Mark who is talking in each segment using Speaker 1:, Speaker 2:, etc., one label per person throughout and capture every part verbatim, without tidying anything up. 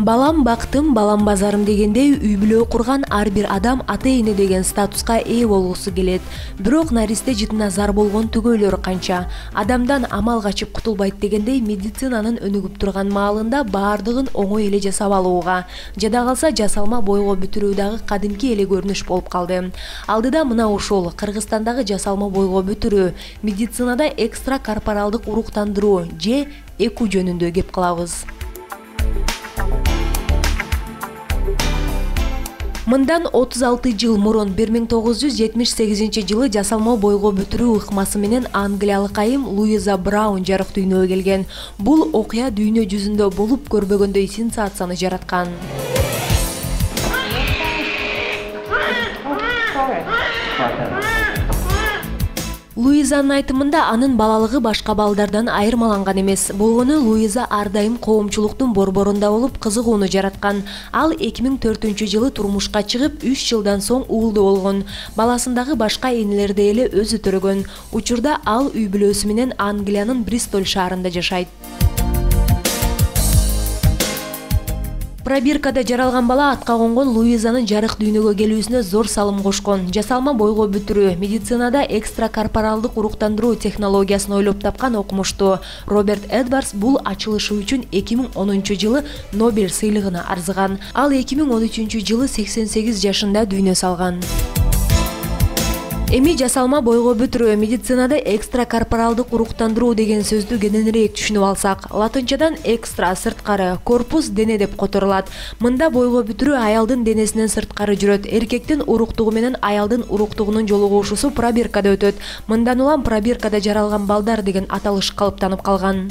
Speaker 1: Балам бактым, балам базарым дегендей үй бүлө курган ар бир адам ата-эне деген статуска ээ болгусу келет. Бирок наристе жытына зар болгон түгөйлөр канча. Адамдан амал качып кутулбайт дегендей медицинанын өнүгүп турган маалында баардыгын оңой эле жасап алууга, жада калса жасалма бойго бүтүрүү дагы кадимки эле көрүнүш болуп калды. Алдыда мына ушул Кыргызстандагы жасалма бойго бүтүрүү, медицинада экстра корпоралдык уруктандыруу же эку жөнүндө кеп кылабыз. Мындан отуз алты жыл мурун бир миң тогуз жүз жетимиш сегизинчи жылы жасалма бойго бүтүрүү ыкмасы менен англиялык айым Луиза Браун жарык дүйнөгө келген. Бул окуя дүйнө жүзүндө болуп көрбөгөндөй сенсацияны жараткан. Луизанын айтымында анын балалыгы башка балдардан айырмаланган эмес. Болгону Луиза ар дайым коомчулуктун борборунда болуп кызыгууну жараткан. Ал эки миң төртүнчү жылы турмушка чыгып, үч жылдан соң уулду болгон. Баласындагы башка энелердей эле өзү төрөгөн. Учурда ал үй бүлөсү менен Англиянын Бристоль шаарында жашайт. Пробиркада жаралган бала атка конгон Луизанын жарык дүйнөгө келүүсүнө зор салым кошкон. Жасалма бойго бүтүрүү, медицинада экстра корпоралдык уруктандыруу технологиясын ойлоп тапкан окумуштуу Роберт Эдвардс бул ачылышы үчүн эки миң онунчу жылы Нобель сыйлыгына арзыган. Ал эки миң он үчүнчү жылы сексен сегиз жашында дүйнө салган. Эми жасалма бойго бүтүрүү, медицинада экстра корпоралдык уруктандыруу деген сөздү кененирээк түшүнүп алсак, латынчадан экстра сырткары, корпус дене деп которулат. Мында бойго бүтүрүү аялдын денесинен сырткары жүрөт. Эркектин уруктугу менен аялдын уруктугунун жолугушуусу пробиркада өтөт. Мындан улам пробиркада жаралган балдар деген аталыш калыптанып калган.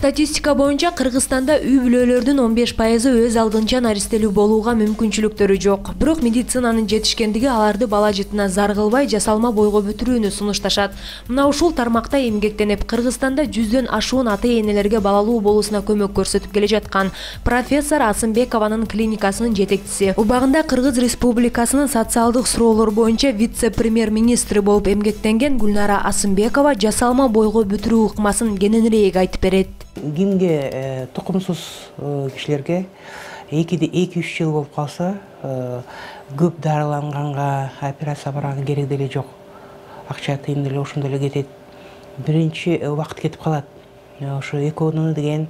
Speaker 1: Статистика боюнча Кыргызстанда үй бүлөлөрдүн он беш пайызы өз алдынча наристелүү болууга мүмкүнчүлүктөрү жок. Бирок медицинанын жетишкендиги аларды бала жытына зар кылбай жасалма бойго бүтүрүүнү сунушташат. Мына ушул тармакта эмгектенип, Кыргызстанда жүздөн ашуун ата-энелерге балалуу болуусуна көмөк көрсөтүп келе жаткан профессор Асымбекованын клиникасынын жетекчиси, убагында Кыргыз Республикасынын социалдык суроолор боюнча вице-премьер-министри болуп эмгектенген Гүлнара Асымбекова жасалма бойго бүтүрүү ыкмасын кененирээк айтып берет.
Speaker 2: Кимге тукумсуз кишилерге эки үч жыл болуп калса, көп дарыланганга операция барганга керек деле жок. Акча тыйын деле ошондой эле кетет. Биринчи убакыт кетип калат. Ошо экөөнү деген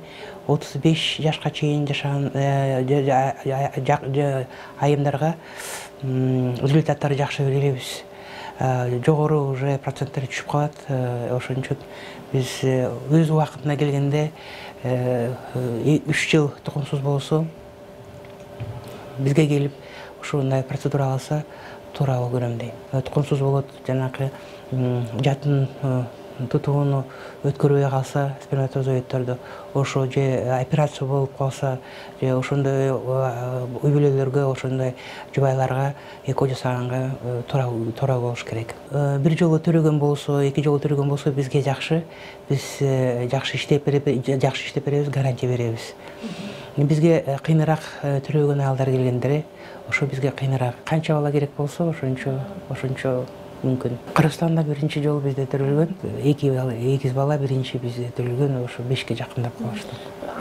Speaker 2: отуз беш жашка чейин жашаган айымдарга результаттары жакшы беребиз. Жогору уже проценттери түшүп калат. Ошон үчүн биз өз убакытына келгенде үч жыл тукумсуз болсо бизге келип ушундай процедура алса туура болуп көрөм дейм. Тукумсуз болот, жанакы жатын тутууну өткөрбөй калса, сперматозоиддерди ошо же операция болуп калса, же ошондой үй бүлөлөргө, ошондой жубайларга эко жасаганга туура болуш керек. Бир жолу төрөгөн болсо, эки жолу төрөгөн болсо бизге жакшы. Биз жакшы иштеп беребиз, жакшы иштеп беребиз, гарантия беребиз. Бизге кыйыныраак төрөгөн аялдар келгендери, ошо бизге кыйыныраак. Канча бала керек болсо, ошончо ошончо мүмкүн. Кыргызстанда биринчи жолу бизде төрөлгөн, эки бала, эгиз бала биринчи бизде төрөлгөн, ошо бешке жакындап калышты.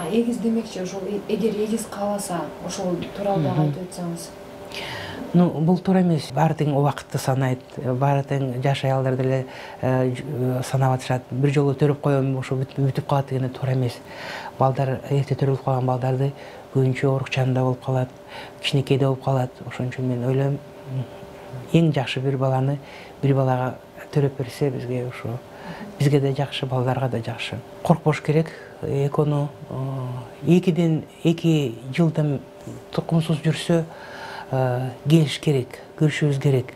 Speaker 3: Эгиз демекчи, ошол эгер эгиз кааласа, ошол тууралуу дагы айтып өтсөңүз.
Speaker 2: Ну, бул туура эмес. Баары тең убакытты санайт, баары тең жаш аялдар деле санап атышат. Бир жолу төрөп коем, ошо бүтүп калат деген туура эмес. Балдар, эрте төрөлүп калган балдарды көбүнчө оорукчанында болуп калат, кичинекейде болуп калат. Ошон үчүн мен ойлойм, эң жакшы бир баланы бир балага төрөп берсе бизге ошо бизге да жакшы, балдарга да жакшы. Коркпош керек. Экөөнү экиден эки жылдан тукумсуз жүрсө келиш керек, көрүшүбүз керек.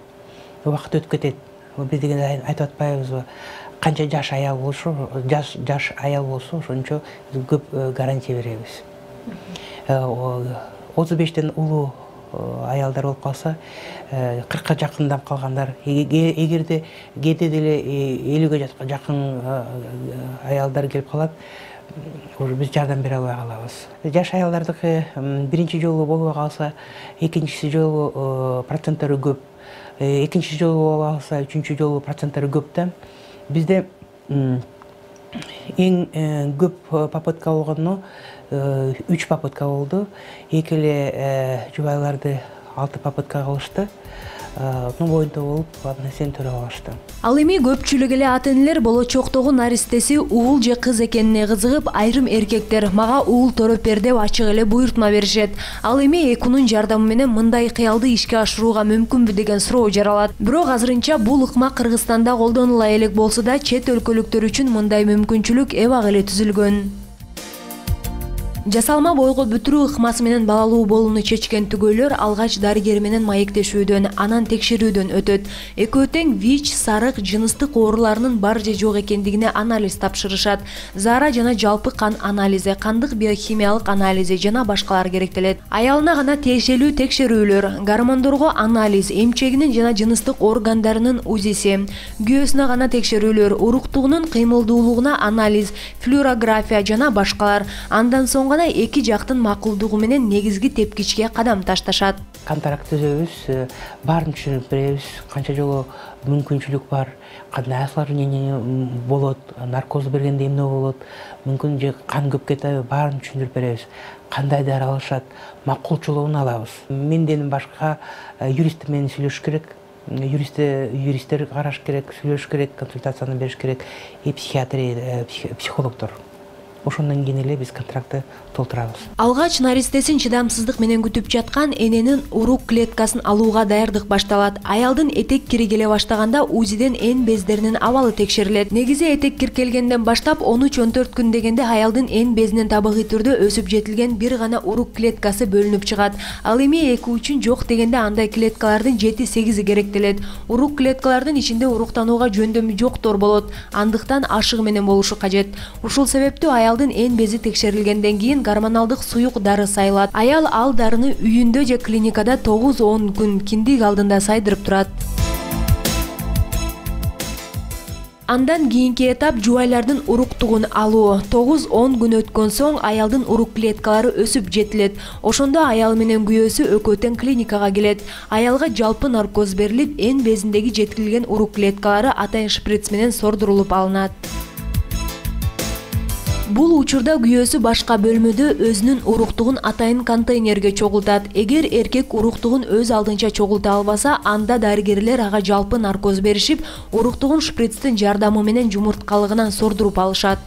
Speaker 2: Убакыт өтүп кетет. Биз дегенде айтып атпайбызбы? Канча жаш аял болсо, жаш жаш аял болсо, ошончо көп гарантия беребиз. отуз бештен улуу аялдар болуп калса, кыркка жакындап калгандар, эгерде кээде деле элүүгө жакын аялдар келип калат, биз жардам бере албай калабыз. Жаш аялдардыкы биринчи жолу болбой калса, экинчи жолу проценттери көп. Экинчи жолу болуп калса, үчүнчү жолу проценттери көп да. бизде эң көп попытка болгону үч попытка болду. Эки эле жубайларды алты попытка кылышты. Ну боюнда болуп, андан сен төрөп алышты.
Speaker 1: Ал эми көпчүлүк эле ата-энелер болочоктогу наристеси уул же кыз экенине кызыгып, айрым эркектер мага уул төрөп бер деп ачык эле буйртма беришет. Ал эми экунун жардамы менен мындай кыялды ишке ашырууга мүмкүнбү деген суроо жаралат. Бирок азырынча бул ыкма Кыргызстанда колдонула элек болсо да, чет өлкөлүктөр үчүн мындай мүмкүнчүлүк эбак эле түзүлгөн. Жасалма бойго бүтүрүү ыкмасы менен балалуу болууну чечкен түгөйлөр алгач дарыгер менен маектешүүдөн, анан текшерүүдөн өтөт. Экөө тең ВИЧ, сарык, жыныстык ооруларынын бар же жок экендигине анализ тапшырышат. Заара жана жалпы кан анализи, кандык биохимиялык анализи жана башкалар керектелет. Аялына гана тиешелүү текшерүүлөр, гормондорго анализ, эмчегинин жана жыныстык органдарынын УЗИси, күйөөсүнө гана текшерүүлөр, уруктугунун кыймылдуулугуна анализ, флюорография жана башкалар. Андан соң эки жактын макулдугу менен негизги тепкичке кадам ташташат.
Speaker 2: Контракт түзөбүз, баарын түшүнүп беребиз, канча жолу мүмкүнчүлүк бар, кандай осложнение болот, наркоз бергенде эмне болот, мүмкүн же кан көп кетеби, баарын түшүндүрүп беребиз. Кандай дары алышат, макулчулугун алабыз. Менден башка юрист менен сүйлөшүш керек. Юристтер, юристтер караш керек, сүйлөшүш керек, консультацияны бериш керек, и психиатрия, психологдор. Ошондон кийин эле биз контрактты толтурабыз.
Speaker 1: Алгач наристесин чыдамсыздык менен күтүп жаткан эненин урук клеткасын алууга даярдык башталат. Аялдын этек кири келе баштаганда УЗИден эн бездеринин абалы текшерилет. Негизи этек кир келгенден баштап он үч он төрт күн дегенде аялдын эн безинин табигый түрдө өсүп жетилген бир гана урук клеткасы бөлүнүп чыгат. Ал эми эки үчүн жок дегенде андай клеткалардын жети сегизи керектелет. Урук клеткалардын ичинде уруктанууга жөндөмү жоктор болот. Андыктан ашыгы менен болушу кажет. Ушул себептүү аял эн бези текшерилгенден кийин гормоналдык суюк дары сайылат. Аял ал дарыны үйүндө же клиникада тогуз он күн киндик алдында сайдырып турат. Андан кийинки этап жубайлардын уруктугун алуу. тогуз он күн өткөн соң аялдын урук клеткалары өсүп жетилет. Ошондо аял менен күйөөсү экөө тең клиникага келет. Аялга жалпы наркоз берилип, эн безиндеги жеткирилген урук клеткалары атайын шприц менен сордурулуп алынат. Бул учурда күйөөсү башка бөлмөдө өзүнүн уруктугун атайын контейнерге чогултат. Эгер эркек уруктугун өз алдынча чогулта албаса, анда дарыгерлер ага жалпы наркоз беришип, уруктугун шприцтин жардамы менен жумурткалыгынан сордуруп алышат.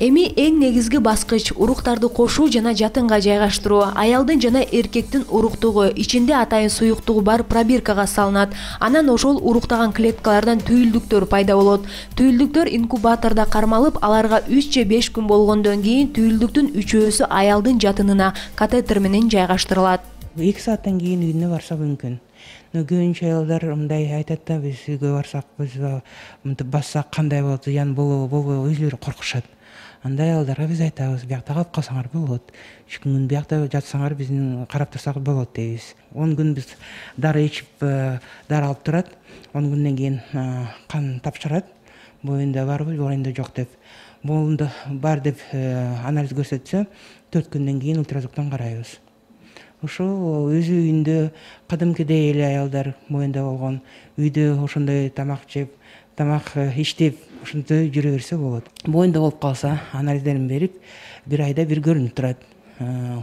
Speaker 1: Эми эң негизги баскыч уруктарды кошуу жана жатынга жайгаштыруу. Аялдын жана эркектин уруктугу ичинде атайын суюктугу бар пробиркага салынат. Анан ошол уруктаган клеткалардан түйүлдүктөр пайда болот. Түйүлдүктөр инкубатордо кармалып, аларга үч же беш күн болгондон кийин түйүлдүктүн үчөөсү аялдын жатынына катетер менен жайгаштырылат.
Speaker 2: эки сааттан кийин үйүнө барса мүмкүн. Көбүнчө аялдар мындай айтат да, биз үйгө барсак, биз мынтип бассак кандай болот, зыян болобу, болбойбу, өзүлөрү коркушат. Андай аялдарга биз айтабыз, биякта калып калсаңар болот. үч күн биякта жатсаңар биздин карап турсак болот дейбиз. он күн биз дары ичип, дары алып турат. он күндөн кийин кан тапшырат. Боюнда барбы, боюнда жок деп. Боюнда бар деп анализ көрсөтсө, төрт күндөн кийин ультразвуктан карайбыз. Ошо өзү үйүндө кадимкидей эле аялдар боюнда болгон, үйдө ошондой тамак жеп, тамак иштеп, ошондой жүрө берсе болот. Боюнда болуп калса, анализдерин берип, бир айда бир көрүнүп турат.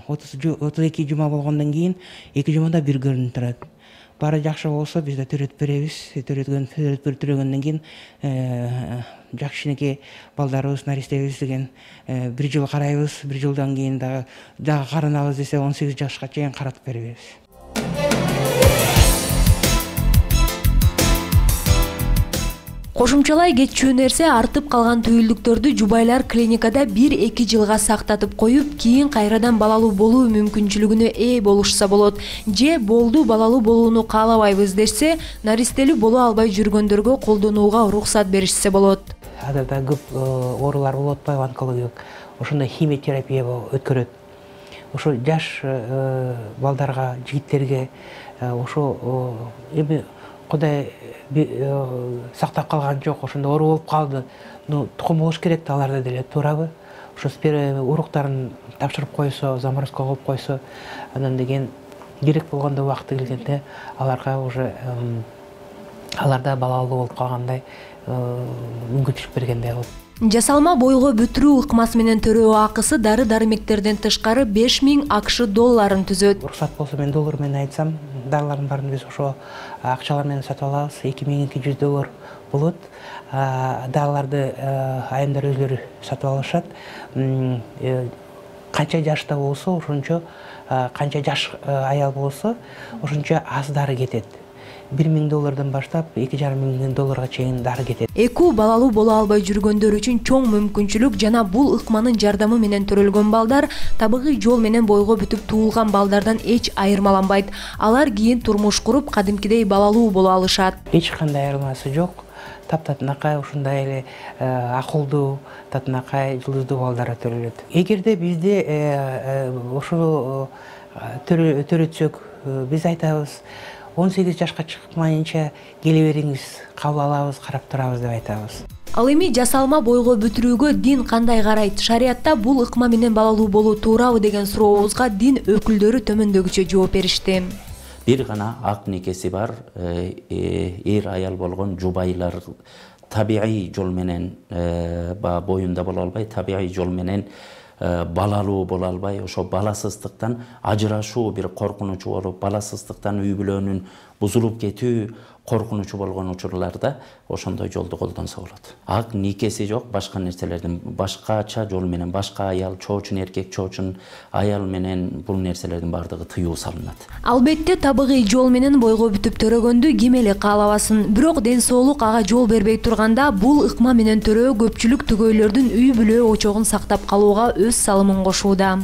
Speaker 2: отуз эки жума болгондон кийин эки жумада бир көрүнүп турат. Баары жакшы болсо биз да төрөтүп беребиз. Төрөткөн төрөгөндөн кийин жакшынакей балдарыбыз, наристебиз деген бир жыл карайбыз. бир жылдан кийин дагы дагы каранабыз десе он сегиз жашка чейин каратып беребиз.
Speaker 1: Кошумчалай кетчү нерсе, артып калган түйүлдүктөрдү жубайлар клиникада бир эки жылга сактатып коюп, кийин кайрадан балалуу болуу мүмкүнчүлүгүнө ээ болушса болот. Же болду балалуу болууну каалабайбыз дешсе, наристелүү боло албай жүргөндөргө колдонууга уруксат беришсе болот.
Speaker 2: Адада көп оорулар болуп атпайбы, онкологиялык. Ошондо химиотерапия өткөрөт. Ошо жаш балдарга, жигиттерге ошо эми Кудай сактап калган жок, ошондо оору болуп калды. Ну, тукум болуш керек да, аларда деле туурабы? Ошо уруктарын тапшырып койсо, заморозка коюп койсо, андан деген керек болгондо убакыты келгенде аларга уже аларда балалуу болуп калгандай мүмкүнчүлүк бергендей кылып.
Speaker 1: Жасалма бойго бүтүрүү ыкмасы менен төрөө акысы дары дармектерден тышкары беш миң акш долларын түзөт.
Speaker 2: Уруксат болсо мен доллар менен айтсам, дарылардын баарын биз ошо акчалар менен сатып алабыз. эки миң эки жүз доллар болот. Дарыларды айымдар өзлөрү сатып алышат. Канча жашта болсо, ошончо канча жаш аял болсо, ошончо аз дары кетет. бир миң доллардан баштап эки жарым миң долларга чейин дары кетет.
Speaker 1: Эку балалуу боло албай жүргөндөр үчүн чоң мүмкүнчүлүк жана бул ыкманын жардамы менен төрөлгөн балдар табигый жол менен бойго бүтүп туулган балдардан эч айырмаланбайт. Алар кийин турмуш куруп, кадимкидей балалуу боло алышат.
Speaker 2: Эч кандай айырмасы жок. Таптатынакай ушундай эле акылдуу, татынакай, жылдыздуу балдар төрөлөт. Эгерде бизде ошо төрөтсөк, биз айтабыз, он сегиз жашка чыкмайынча келе бериңиз, кабыл алабыз, карап турабыз деп айтабыз.
Speaker 1: Ал эми жасалма бойго бүтүрүүгө дин кандай карайт? Шариятта бул ыкма менен балалуу болуу туурабы деген сурообузга дин өкүлдөрү төмөндөгүчө жооп беришти.
Speaker 4: Бир гана ак никеси бар эр аял болгон жубайлар табигый жол менен боюнда боло албай, табигый жол менен балалуу боло албай, ошо баласыздыктан ажырашуу бир коркунучу болуп, баласыздыктан үй бүлөнүн бузулуп кетүү коркунучу болгон учурларда ошондой жолду колдонсо болот. Ак никеси жок, башка нерселердин башкача жол менен башка аял, чоочун эркек, чоочун аял менен бул нерселердин баардыгы тыюу салынат.
Speaker 1: Албетте табигый жол менен бойго бүтүп төрөгөндү ким эле каалабасын. Бирок ден соолук ага жол бербей турганда бул ыкма менен төрөө көпчүлүк түгөйлөрдүн үй бүлө очогун сактап калууга өз салымын кошууда.